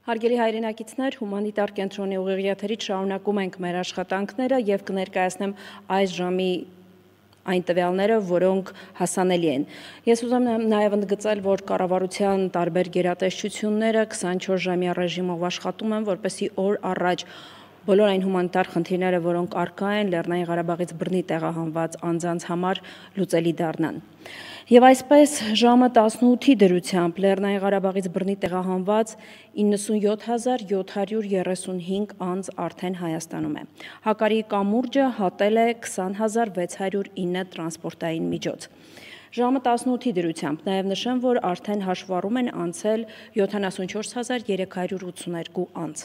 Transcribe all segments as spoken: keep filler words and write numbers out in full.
Հարգելի հայրենակիցներ, հումանիտար կենտրոնի ուղիղ եթերից շարունակում ենք մեր աշխատանքները եւ կներկայացնեմ այս ժամի այն տվյալները, որոնք հասանելի են։ Ես ուզում եմ նաև ընդգծել, որ կառավարության տարբեր գերատեսչությունները քսանչորս ժամյա ռեժիմով աշխատում են, որպեսզի օր առաջ բոլոր այն հումանիտար խնդիրները, որոնք առկա են Լեռնային Ղարաբաղից բռնի տեղահանված անձանց համար լուծելի դառնան։ Եվ այսպես ժամը տասնութի դրությամբ Լեռնային Ղարաբաղից բռնի տեղահանված իննսունյոթ հազար յոթ հարյուր երեսունհինգ անձ արդեն Հայաստանում է։ Հակարի կամուրջը հատել է քսան հազար վեց հարյուր ինը տրանսպորտային միջոց։ Ժամը տասնութի դրությամբ նաև նշեմ, որ արդեն հաշվառում են անցել յոթանասունչորս հազար երեք հարյուր ութսուներկու անձ։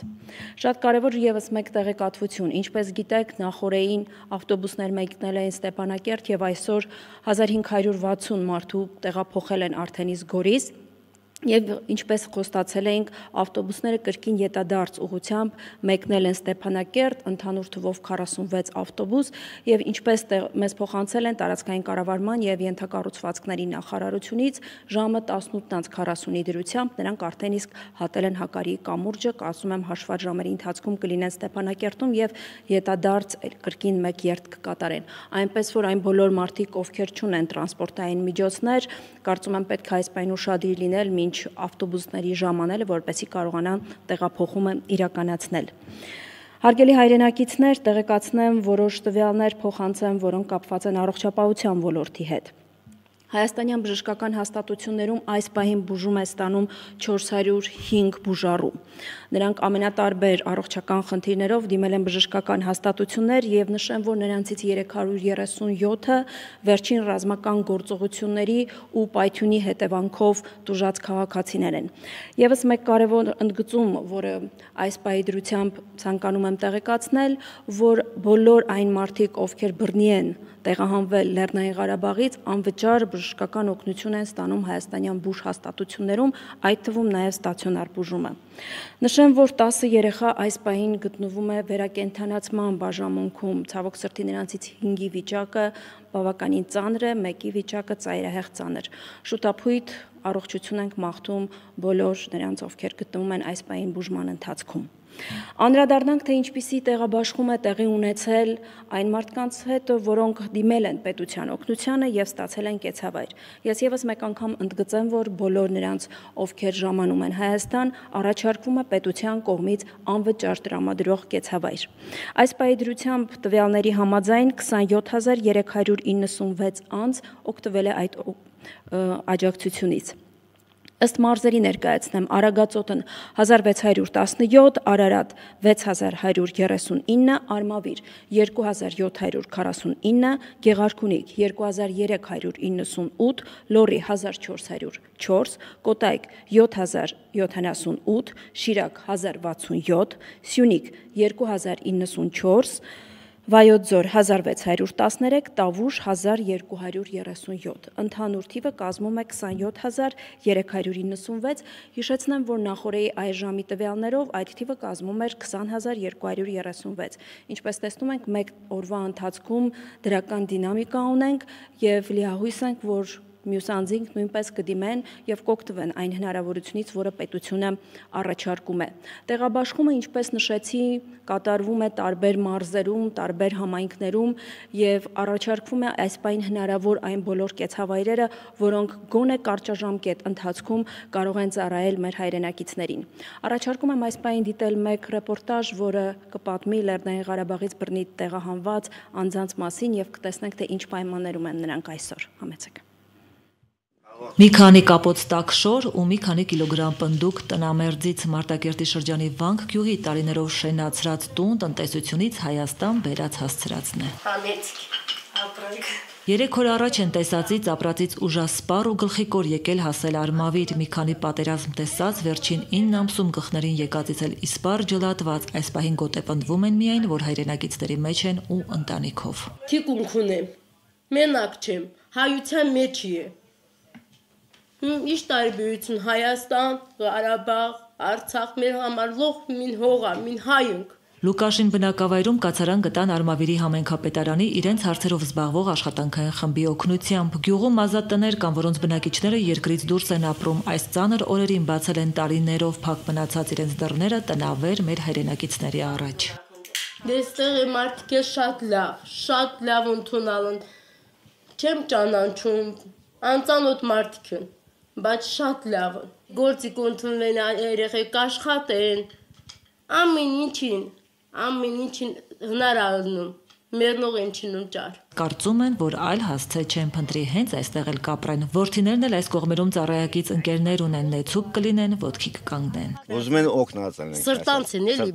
Շատ կարևոր ևս մեկ տեղեկատվություն, ինչպես գիտեք, նախորդին ավտոբուսներ մեկնել էին Ստեփանակերտ եւ այսօր հազար հինգ հարյուր վաթսուն մարդու տեղափոխել են արդեն իսկ Գորիս։ Եվ ինչպես խոստացել էինք, ավտոբուսները կրկին ետադարձ ուղղությամբ մեկնել են Ստեփանակերտ, ընդհանուր թվով քառասունվեց ավտոբուս, եւ ինչպես մեզ փոխանցել են տարածքային կառավարման եւ ենթակառուցվածքների նախարարությունից, ժամը տասնութ քառասունի դրությամբ նրանք արդեն իսկ հատել են Հակարի կամուրջը, ասում եմ հաշվառ ժամերի ընթացքում կլինեն Ստեփանակերտում եւ ետադարձ կրկին մեկ երթ կկատարեն։ Այնպես որ այն բոլոր մարդիկ, ովքեր չունեն տրանսպորտային միջոցներ, կարծում եմ պետք է այս պայն ուշադիր լինել մինչ ավտոբուսների ժամանելը, որպեսզի կարողանան տեղափոխումը իրականացնել։ Հարգելի հայրենակիցներ, տեղեկացնեմ որոշ տվյալներ փոխանցեմ, որոնք կապված են առողջապահության ոլորտի հետ։ Հայաստանյան բժշկական հաստատություններում այս պահին բուժում է ստանում չորս հարյուր հինգ բուժառու։ Նրանք ամենատարբեր առողջական խնդիրներով դիմել են բժշկական հաստատություններ եւ նշեմ, որ նրանցից երեք հարյուր երեսունյոթը վերջին ռազմական գործողությունների ու պայթյունի հետևանքով տուժած քաղաքացիներ են։ Եվս մեկ կարևոր ընդգծում, որը այս պահի դրությամբ ցանկանում եմ տեղեկացնել, որ բոլոր այն մարդիկ, ովքեր բռնի են տեղահանվել Լեռնային Ղարաբաղից, անվճար բժշկական օգնություն են ստանում հայաստանյան բուժ հաստատություններում, այդ թվում նաև ստացիոնար բուժումը։ Նշեմ, որ տասը երեխա այս պահին գտնվում է վերակենդանացման բաժանմունքում, ցավոք սրտի նրանցից հինգի վիճակը բավականին ծանր է, մեկի վիճակը ծայրահեղ ծանր։ Շուտափույթ առողջություն ենք մաղթում բոլոր նրանց, ովքեր գտնվում են այս պահին բուժման ընթացքում։ Անդրադառնանք, թե ինչպիսի տեղաբաշխում է տեղի ունեցել այն մարդկանց հետ, որոնք դիմել են պետության օգնությանը եւ ստացել են կեցավայր։ Ես եւս մեկ անգամ ընդգծեմ, որ բոլոր նրանց, ովքեր ժամանում են Հայաստան, առաջարկվում է պետության կողմից անվճար տրամադրող կեցավայր։ Այս պահի դրությամբ տվյալների համաձայն քսանյոթ հազար երեք հարյուր իննսունվեց անձ օգտվել է այդ աջակցությունից։ Ըստ մարզերի ներկայացնեմ, Արագածոտն հազար վեց հարյուր տասնյոթ, Արարատ վեց հազար հարյուր երեսունինը, Արմավիր երկու հազար յոթ հարյուր քառասունինը, Գեղարքունիք երկու հազար երեք հարյուր իննսունութ, Լոռի հազար չորս հարյուր չորս, Կոտայք յոթ հազար յոթանասունութ, Շիրակ հազար վաթսունյոթ, Սյունիք երկու հազար իննսունչորս, Վայոց ձոր հազար վեց հարյուր տասներեք, Տավուշ հազար երկու հարյուր երեսունյոթ, ընդհանուր թիվը կազմում է քսանյոթ հազար երեք հարյուր իննսունվեց, հիշեցնեմ, որ նախորդի այս ժամի տվյալներով այդ թիվը կազմում էր քսան հազար երկու հարյուր երեսունվեց, ինչպես տեսնում ենք մեկ օրվա ընթացքում դրական դինամիկա ունենք եւ լիահույս ենք, որ մյուս անձինք նույնպես կդիմեն եւ կօգտվեն այն հնարավորությունից, որը պետությունը առաջարկում է։ Տեղաբաշխումը, ինչպես նշեցի, կատարվում է տարբեր մարզերում, տարբեր համայնքներում եւ առաջարկվում է այս պայն հնարավոր այն բոլոր կեցավայրերը, որոնք գոնե կարճաժամկետ ընթացքում կարող են ծառայել մեր հայրենակիցներին։ Առաջարկում եմ այս պայն դիտել մեկ ռեպորտաժ, որը կպատմի Լեռնային Ղարաբաղից բռնի տեղահանված անձանց մասին եւ կտեսնենք, թե ինչ պայմաններում են նրանք այսօր։ Համեցեք։ Մի քանի կապոց տաք շոր ու մի քանի կիլոգրամ պնդուկ տնամերձից Մարտակերտի շրջանի Վանք գյուղի տարիներով շենացրած տուն տնտեսությունից Հայաստան բերած հասցրածն է։ Երեք օր առաջ են տեսածից ապրածից ուժասպառ ու գլխիկոր եկել հասել Արմավիր, մի քանի պատերազմ տեսած, վերջին ինը ամսում գլխներին եկածից էլ իսպառ ջլատված, այս պահին գոտեպնդվում են միայն, որ հայրենակիցների մեջ են ու ընտանիքով։ Թիկունք ունեմ, մենակ չեմ, հայության մեջ է։ Ինչ տարբերություն Հայաստան, Ղարաբաղ, Արցախ մեր համար լող մին հողա, մին հայ ենք։ Լուկաշին բնակավայրում կացարան գտան Արմավիրի համայնքապետարանի իրենց հարցերով զբաղվող աշխատանքային խմբի օգնությամբ։ Գյուղում ազատ տներ կան, որոնց բնակիչները երկրից դուրս են ապրում, այս ծանր օրերին բացել են տարիներով փակ մնացած իրենց դռները տնավեր մեր հայրենակիցների առաջ։ Դեստեղի մարդիկ է շատ լավ, շատ լավ ընդունալ են, չեմ ճանաչում, անծանոթ մարդիկ են, բայց շատ լավ են, գործիք ընդունվեն, երեխեք աշխատեն, ամեն ինչին, ամեն ինչին հնար ալնում, մերնող են չինում ճար։ Կարծում են, որ այլ հասցե չեն փնտրի, հենց այստեղ էլ կապրեն։ Որդիներն էլ այս կողմերում ծառայակից ընկերներ ունեն, նեցուկ կլինեն, ոտքի կկանգնեն։ Ուզում են օգնած են։ Սրտանց են էլի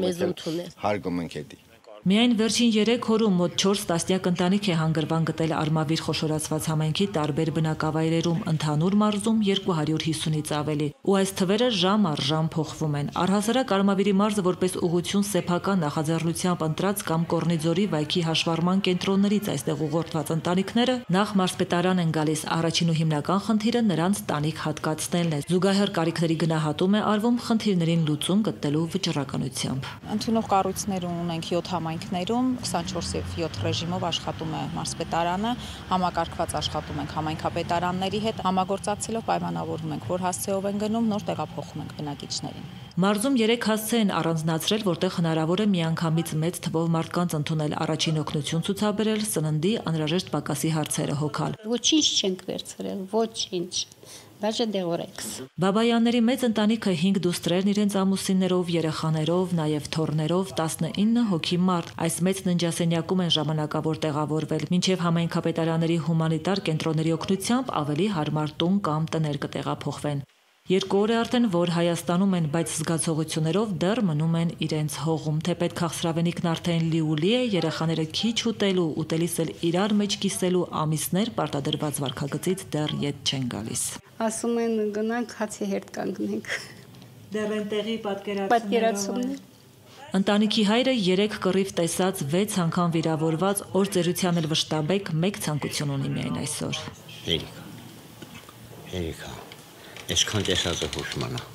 մեզ ընդունել։ Հարգում ենք հետի։ Միայն վերջին երեք օրում մոտ չորս տասնյակ ընտանիք է հանգրվան գտել Արմավիր խոշորացված համայնքի տարբեր բնակավայրերում, ընդհանուր մարզում երկու հարյուր հիսունից ավելի, ու այս թվերը ժամ առ ժամ փոխվում են։ Առհասարակ Արմավիրի մարզը որպես ուղղություն սեփական նախաձեռնությամբ ընտրած կամ Կորնիձորի վայքի հաշվառման կենտրոններից այստեղ ուղղորդված ընտանիքները նախ մարզպետարան են գալիս, առաջին ու հիմնական խնդիրը նրանց տանիք հատկացնելն է։ Զուգահեռ կարիքների գնահատում է արվում խնդիրներին լուծում գտնելու վճռականությամբ։ Ընդունող կառույցներ ունենք յոթ համայնքներում, քսանչորս եւ յոթ ռեժիմով աշխատում է մարզպետարանը, համակարգված աշխատում ենք համայնքապետարանների հետ, համագործակցելով պայմանավորվում ենք, որ հասցեով են գնում, նոր տեղափոխում ենք բնակիչներին։ Մարզում երեք հասցե են առանձնացրել, որտեղ հնարավոր է միանգամից մեծ թվով մարդկանց ընդունել, առաջին օգնություն ցուցաբերել, սննդի անհրաժեշտ պակասի հարցերը հոգալ։ Ոչինչ չենք վերցրել, ոչինչ։ Даже դեղորեքս։ Բաբայանների մեծ ընտանիքը հինգ դուստրերն իրենց ամուսիններով, երեխաներով, նաև թոռներով տասնինը հոգի մարդ այս մեծ ննջասենյակում են ժամանակավոր տեղավորվել, մինչև համայնքապետարանների հումանիտար կենտրոնների օգնությամբ ավելի հարմար տուն կամ տներ կտեղափոխվեն։ Երկու օր է արդեն, որ Հայաստանում են, բայց զգացողություններով դեռ մնում են իրենց հողում, թեպետ քաղցրավենիքն արդեն լիուլի է, երեխաները քիչ ուտելու, ուտելիս էլ իրար մեջ կիսելու, ամիսներ պարտադրված վարքագծից դեռ ետ չեն գալիս։ Ասում են գնանք հացի հետ կանգնենք։ Դեռ են տեղի պատկերացումներ։ Ընտանիքի հայրը երեք կռիվ տեսած վեց անգամ վիրավորված, օր ծերության էլ վշտաբեկ մեկ ցանկություն ունի միայն այսօր։ Երիկա, երիկա, այսքան տեսածը հուշ մնա,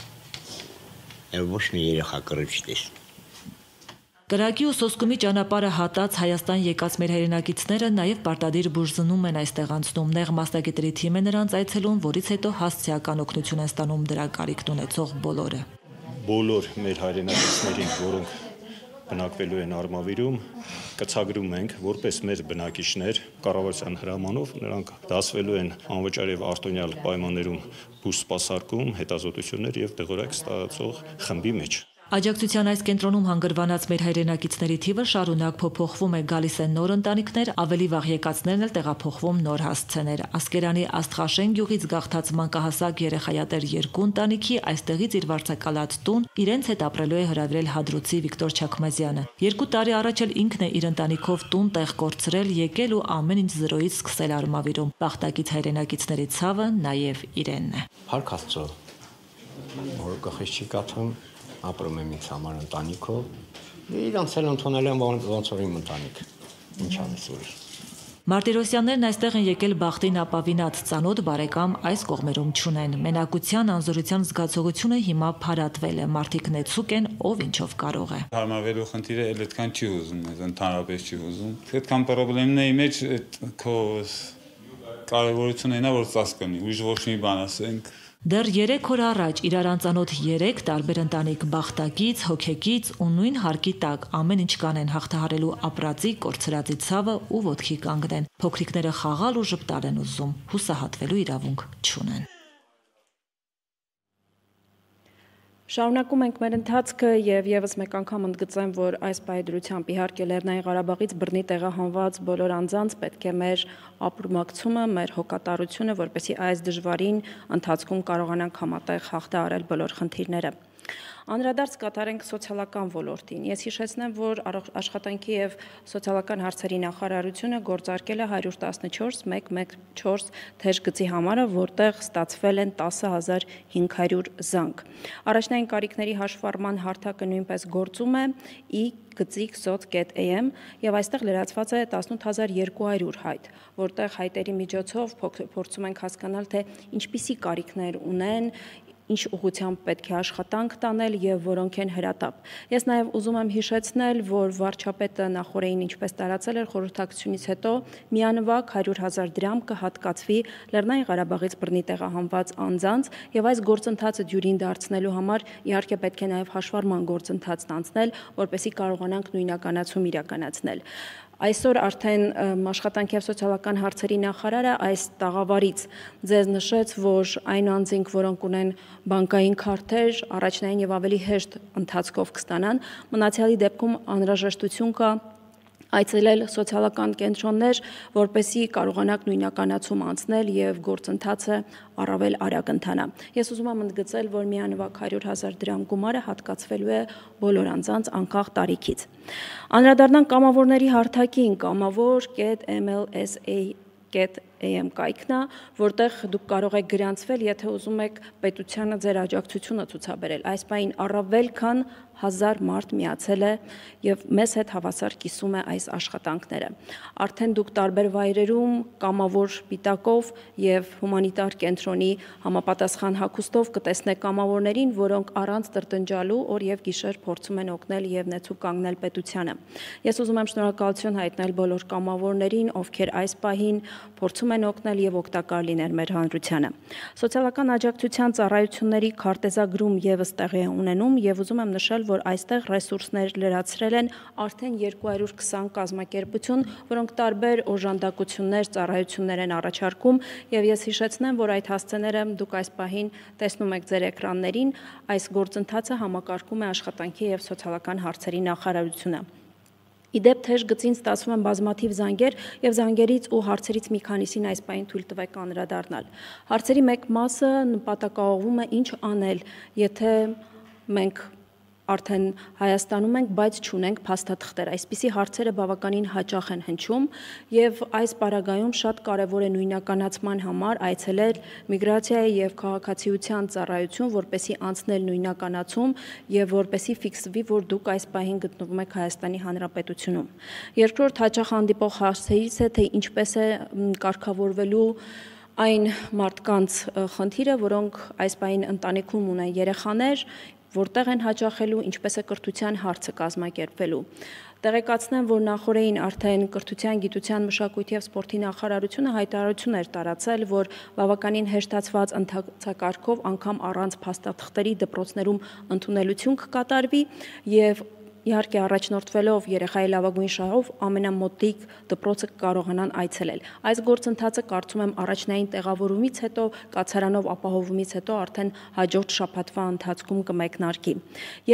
ոչ մի երեխա կռիվ չտեսնի։ Կրակի ու սոսկումի ճանապարհը հատած Հայաստան եկած մեր հայրենակիցները նաև պարտադիր բուժզննում են այստեղ անցնում, նեղ մասնագետների թիմ է նրանց այցելում, որից հետո հասցեական օգնություն են ստանում դրա կարիքն ունեցող բոլորը։ Բոլոր մեր հայրենակիցներին, որոնք բնակվելու են Արմավիրում, կցագրում ենք, որպես մեր բնակիչներ կառավարության հրամանով նրանք դասվելու են անվճար եւ արտոնյալ պայմաններում բուժ սպասարկում, հետազոտություններ եւ դեղորայք ստացող խմբի մեջ։ Աջակցության այս կենտրոնում հանգրվանած մեր հայրենակիցների թիվը շարունակ փոփոխվում է, գալիս են նոր ընտանիքներ, ավելի վաղ եկածներն էլ տեղափոխվում նոր հասցեներ։ Ասկերանի Աստղաշեն գյուղից գաղթած մանկահասակ երեխայատեր երկու ընտանիքի այստեղից իր վարձակալած տուն իրենց հետ ապրելու է հրավիրել Հադրութի Վիկտոր Չաքմազյանը։ Երկու տարի առաջ էլ ինքն է իր ընտանիքով տուն տեղ կորցրել, եկել ու ամեն ինչ զրոյից սկսել Արմավիրում։ Բախտակից հայրենակիցների ցավը նաև իրենն է։ Փառք Աստծո, որ գլխից չի կաթում, ապրում եմ ինձ համար ընտանիքով, իրանց էլ ընդունել եմ ոնց որ իմ ընտանիք, ինչ անես ուրիշ։ Մարտիրոսյաններն այստեղ են եկել բախտին ապավինած, ծանոթ բարեկամ այս կողմերում չունեն։ Մենակության, անզորության զգացողությունը հիմա փարատվել է, մարդիկ նեցուկ են, ով ինչով կարող է։ Հարմարվելու խնդիրը էլ այդքան չի ուզում, ընդհանրապես չի ուզում։ Այդքան պրոբլեմների մեջ քո կարևորությունն է, որ ծածկնի, ուրիշ ոչ մի բան ասենք։ Դեռ երեք օր առաջ իրար անծանոթ երեք տարբեր ընտանիք բախտակից, հոգեկից ու նույն հարկի տակ ամեն ինչ կանեն հաղթահարելու ապրածի, կորցրածի ցավը ու ոտքի կանգնեն։ Փոքրիկները խաղալ ու ժպտալ են ուզում, հուսահատվելու իրավունք չունեն։ Շարունակում ենք մեր ընթացքը եւ եւս մեկ անգամ ընդգծեմ, որ այս պայդրությամբ իհարկե Լեռնային Ղարաբաղից բռնի տեղահանված բոլոր անձանց պետք է մեր ապրումակցումը, մեր հոգատարությունը, որպեսզի այս դժվարին ընթացքում կարողանանք համատեղ հաղթահարել բոլոր խնդիրները։ Անդրադարձ կատարենք սոցիալական ոլորտին։ Ես հիշեցնեմ, որ աշխատանքի եւ սոցիալական հարցերի նախարարությունը գործարկել է հարյուր տասնչորս հազար մեկը չորս թեժգծի համարը, որտեղ ստացվել են տասը հազար հինգ հարյուր զանգ։ Առաջնային կարիքների հաշվառման հարթակը նույնպես գործում է ի գծիկ սոց կետ էյ էմ եւ այստեղ լրացված է տասնութ հազար երկու հարյուր հայտ, որտեղ հայտերի միջոցով փորձում ենք հասկանալ, թե ինչպիսի կարիքներ ունեն, ինչ ուղղությամբ պետք է աշխատանք տանել եւ որոնք են հրատապ։ Ես նաեւ ուզում եմ հիշեցնել, որ վարչապետը նախորդին ինչպես տարածել էր խորհրդակցությունից հետո միանվագ հարյուր հազար դրամ կհատկացվի Լեռնային Ղարաբաղից բռնի տեղահանված անձանց եւ այս գործընթացը դյուրին դարձնելու համար իհարկե պետք է նաեւ հաշվառման գործընթաց անցնել, որպեսզի կարողանանք նույնականացում իրականացնել։ Այսօր արդեն աշխատանքի և սոցիալական հարցերի նախարարը այս տաղավարից ձեզ նշեց, որ այն անձինք, որոնք ունեն բանկային քարտեր, առաջնային եւ ավելի հեշտ ընթացքով կստանան, մնացյալի դեպքում անհրաժեշտություն կա այցելել սոցիալական կենտրոններ, որպեսզի կարողանաք նույնականացում անցնել եւ գործընթացը առավել արագ ընթանա։ Ես ուզում եմ ընդգծել, որ միանվագ հարյուր հազար դրամ գումարը հատկացվելու է բոլոր անձանց անկախ տարիքից։ Անդրադառնանք կամավորների հարթակին, կամավոր կետ էմ էլ էս էյ կետ էյ էմ կայքն է, որտեղ դուք կարող եք գրանցվել, եթե ուզում եք պետությանը ձեր աջակցությունը ցուցաբերել։ Այս պահին առավել քան հազար մարդ միացել է եւ մեզ հետ հավասար կիսում է այս աշխատանքները։ Արդեն դուք տարբեր վայրերում կամավոր պիտակով եւ հումանիտար կենտրոնի համապատասխան հագուստով կտեսնեք կամավորներին, որոնք առանց տրտնջալու օր եւ գիշեր փորձում են օգնել եւ նեցուկ կանգնել պետությանը։ Ես ուզում եմ շնորհակալություն հայտնել բոլոր կամավորներին, ովքեր այս պահին փորձում են օգնել եւ օգտակար լինել մեր հանրությանը։ Սոցիալական աջակցության ծառայությունների քարտեզագրում եւս տեղի է ունենում եւ ուզում եմ նշել, որ այստեղ ռեսուրսներ լրացրել են արդեն երկու հարյուր քսան կազմակերպություն, որոնք տարբեր օժանդակություններ, ծառայություններ են առաջարկում եւ ես հիշեցնեմ, որ այդ հասցեները դուք այս պահին տեսնում եք ձեր էկրաններին, այս գործընթացը համակարգում է աշխատանքի եւ սոցիալական հարցերի նախարարությունը։ Իդեպ թեժ գծին ստացվում են բազմաթիվ զանգեր եւ զանգերից ու հարցերից մի քանիսին այս պահին թույլ տվեք անդրադառնալ։ Հարցերի մեկ մասը նպատակաուղղում է ինչ անել, եթե մենք արդեն Հայաստանում ենք, բայց չունենք փաստաթղթեր։ Այսպիսի հարցերը բավականին հաճախ են հնչում եւ այս պարագայում շատ կարեւոր է նույնականացման համար այցելել միգրացիայի եւ քաղաքացիության ծառայություն, որպեսզի անցնել նույնականացում եւ որպեսզի ֆիքսվի, որ դուք այս պահին գտնվում եք Հայաստանի Հանրապետությունում։ Երկրորդ հաճախ հանդիպող հարցերից է, թե ինչպես է կարգավորվելու այն մարդկանց խնդիրը, որոնք այս պահին ընտանիքում ունեն երեխաներ, որտեղ են հաճախելու, ինչպես է կրթության հարցը կազմակերպվելու։ Տեղեկացնեմ, որ նախորդին արդեն կրթության, գիտության, մշակույթի եւ սպորտի նախարարությունը հայտարարություն էր տարածել, որ բավականին հեշտացված ընթացակարգով անգամ առանց փաստաթղթերի դպրոցներում ընդունելություն կկատարվի եւ իհարկե առաջնորդվելով երեխայի լավագույն շահով ամենամոտիկ դպրոցը կարողանան այցելել։ Այս գործընթացը կարծում եմ առաջնային տեղավորումից հետո, կացարանով ապահովումից հետո արդեն հաջորդ շաբաթվա ընթացքում կմեկնարկի։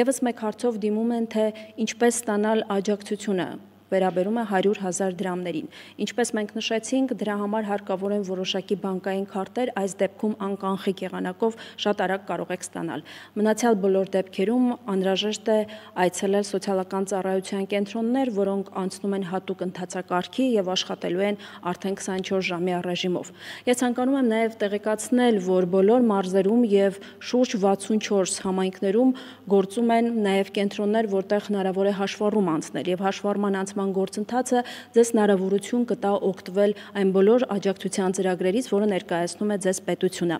Եվս մեկ հարցով դիմում են, թե ինչպես ստանալ աջակցությունը վերաբերում է հարյուր հազար դրամներին։ Ինչպես մենք նշեցինք, դրա համար հարկավոր են որոշակի բանկային քարտեր, այս դեպքում անկանխիկ եղանակով շատ արագ կարող եք ստանալ։ Մնացյալ բոլոր դեպքերում անհրաժեշտ է այցելել սոցիալական ծառայության կենտրոններ, որոնք անցնում են հատուկ ընթացակարգի եւ աշխատելու են արդեն քսանչորս ժամյա ռեժիմով։ Ես ցանկանում եմ նաեւ տեղեկացնել, որ բոլոր մարզերում եւ շուրջ վաթսունչորս համայնքներում գործում են նաեւ կենտրոններ, որտեղ հնարավոր է հաշվառում անցնել եւ հաշվառման անցման գործընթացը ձեզ հնարավորություն կտա օգտվել այն բոլոր աջակցության ծրագրերից, որը ներկայացնում է ձեզ պետությունը։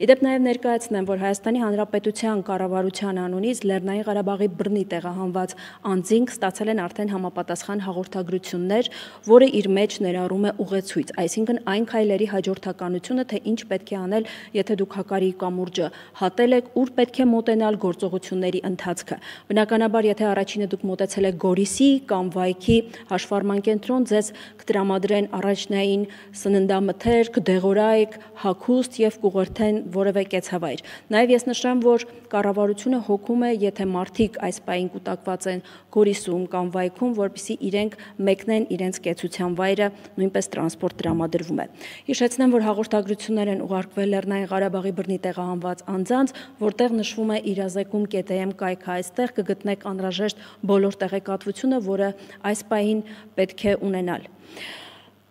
Իդեպ նաև ներկայացնեմ, որ Հայաստանի Հանրապետության կառավարության անունից Լեռնային Ղարաբաղի բռնի տեղահանված անձինք ստացել են արդեն համապատասխան հաղորդագրություններ, որը իր մեջ ներառում է ուղեցույց, այսինքն այն քայլերի հաջորդականությունը, թե ինչ պետք է անել, եթե դուք հակարի կամուրջը հատել եք, ուր պետք է մոտենալ գործողությունների ընթացքը։ Բնականաբար, եթե առաջինը դուք մոտեցել եք Գորիսի կամ Վայքի հաշվառման կենտրոն, ձեզ կտրամադրեն առաջնային սննդամթեր, կդեղորայք, հագուստ եւ կուղղորդեն որևէ կեցավայր։ Նաեւ ես նշեմ, որ կառավարությունը հոգում է, եթե մարդիկ այս պահին կուտակված են Գորիսում կամ Վայքում, որպեսզի իրենք մեկնեն իրենց կեցության վայրը, նույնպես տրանսպորտ տրամադրվում է։ Հիշեցնեմ, որ հաղորդագրություններ են ուղարկվել Լեռնային Ղարաբաղի բռնի տեղահանված անձանց, որտեղ նշվում է իրազեկում կետ էյ էմ կայքը, այստեղ կգտնեք անհրաժեշտ բոլոր տեղեկատվությունը, որը այս պահին պետք է ունենալ։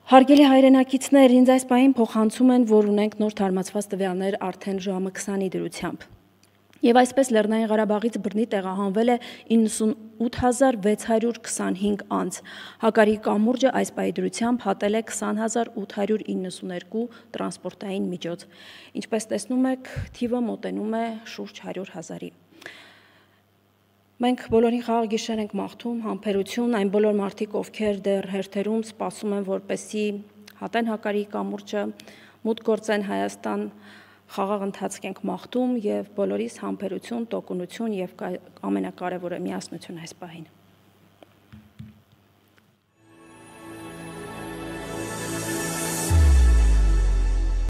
Հարգելի հայրենակիցներ, ինձ այս պահին փոխանցում են, որ ունենք նոր թարմացված տվյալներ արդեն ժամը քսանի դրությամբ։ Եվ այսպես Լեռնային Ղարաբաղից բռնի տեղահանվել է իննսունութ հազար վեց հարյուր քսանհինգ անձ։ Հակարի կամուրջը այս պայդրությամբ հատել է քսան հազար ութ հարյուր իննսուներկու տրանսպորտային միջոց։ Ինչպես տեսնում եք, թիվը մոտենում է շուրջ հարյուր հազարի։ Մենք բոլորին խաղաղ գիշեր ենք մաղթում, համբերություն, այն բոլոր մարդիկ, ովքեր դեռ հերթերում սպասում են, որպեսզի հատեն Հակարի կամուրջը, մուտք գործեն Հայաստան, խաղաղ ընթացք ենք մաղթում եւ բոլորիս համբերություն, տոկունություն եւ ամենակարևորը միասնություն այս պահին։